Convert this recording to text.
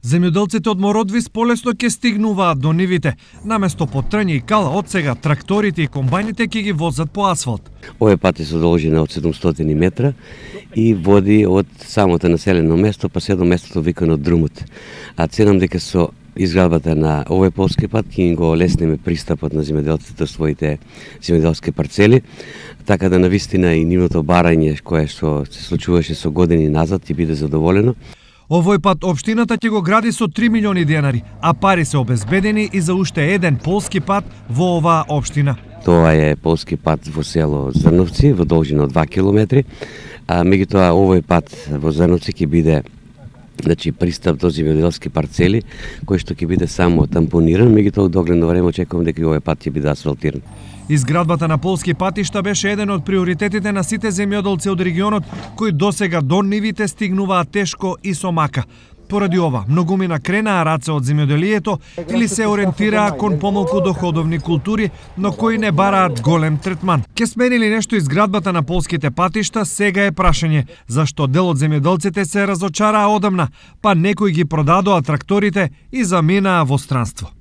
Земјоделците од Мородвис полесно ќе стигнуваат до нивите. Наместо по трње и кала, од сега тракторите и комбајните ќе ги возат по асфалт. Овој пат е содржина од 700 метра и води од самото населено место па се до местото викано Друмот. А ценам дека со изградбата на овој полски пат ќе го олесниме пристапот на земјоделците до своите земјоделски парцели, така да навистина и нивното барање кое што се случуваше со години назад ќе биде задоволено. Овој пат општината ќе го гради со 3 милиони денари, а пари се обезбедени и за уште еден полски пат во оваа општина. Тоа е полски пат во село Зрновци во должина од 2 километри, а меѓутоа овој пат во Зрновци ќе биде пристап до земјоделски парцели, кој што ќе биде само тампониран, меѓутоа догледно време очекувам дека овој пат ќе биде асфалтиран. Изградбата на полски патишта беше еден од приоритетите на сите земјоделци од регионот, кои досега до нивите стигнуваат тешко и со мака. Поради ова, многумина кренаа раце од земјоделието или се ориентираа кон помалку доходовни култури, но кои не бараат голем третман. Ке смени ли нешто изградбата на полските патишта, сега е прашање, зашто дел од земјоделците се разочараа одамна, па некои ги продадоа тракторите и заминаа во странство.